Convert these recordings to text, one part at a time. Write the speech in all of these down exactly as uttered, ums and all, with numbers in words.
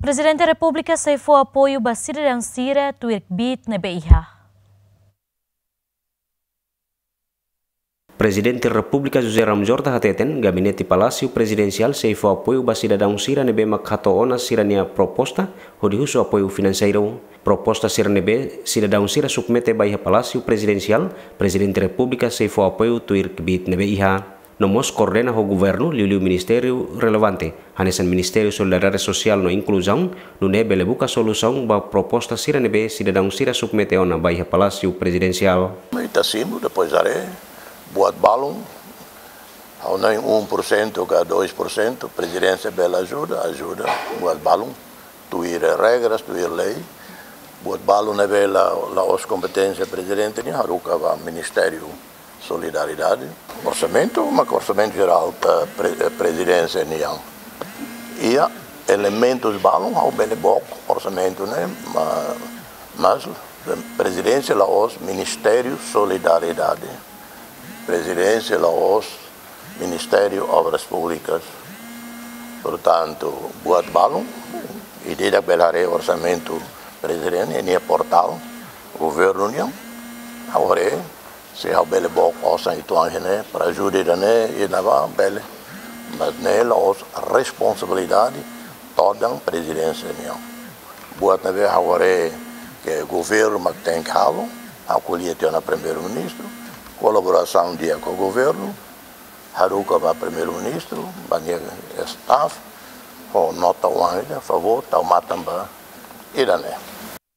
Prezidente Repúblika sei fó apoiu ba sidadaun sira tuir kbiit ne'ebé iha. Prezidente Repúblika José Ramos Horta hateten, Gabinete Palásiu Prezidensiál sei fó apoiu ba sidadaun sira ne'ebé mak hato'o ona sira-nia proposta hodi husu apoiu finanseiru. Proposta sira ne'ebé sidadaun sira submete ba iha Palásiu Prezidensiál, Prezidente Repúblika sei fó apoiu tuir kbiit ne'ebé iha. No mós koordena ho governu, liuliu ministériu relevante, hanesan Ministériu Solidariedade Sosiál no Inkluzaun, nune'e bele buka solusaun ba proposta sira ne'ebé sidadaun sira submete ona ba iha Palásiu Prezidensiál. Ita simu, depois haree, buat balun, ha'u hanoin um por cento ka dois por cento, Prezidénsia bele ajuda, ajuda, buat balun, tuir regras, tuir lei, buat balun ne'ebé la, la'ós kompeténsia Prezidente nian, haruka ba Ministériu Solidariedade. Orsamentu, mak orsamentu jerál, eh, pre-, eh, Prezidénsia nian. Iha elementus balun ha'u bele book orsamentu ne'e, ma-, mas Prezidénsia la'ós Ministériu Solidariedade. Prezidénsia la'ós Ministériu Obras Públikas. Portantu, buat balun, ida-idak bele haree orsamentu Prezidente ninia portál governu nian, ha'u haree, se ha'u bele book osan uitoan iha ne'e, para ajuda ida-ne'e, ida-ne'ebá, bele. Mas ne'e la'ós responsabilidade todan Prezidénsia nian. Buat ne'ebé ha'u haree ke governu mak tenke halo, ha'u ko'alia tiha ona Primeiru-Ministru, kolaborasaun di'ak ho governu, haruka ba Primeiru-Ministru, ba nia staff, ho nota oan ida, favór, tau matan ba ida-ne'e.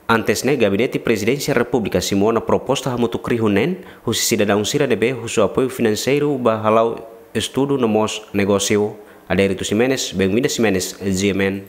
Antes ne'e, Gabinete Prezidénsia Repúblika simu ona proposta hamutuk rihun neen, husi sidadaun sira ne'ebé husu apoiu finanseiru ba hala'o estudu no mós negósiu. Adérito Ximenes, Benguinda Ximenes, G M N.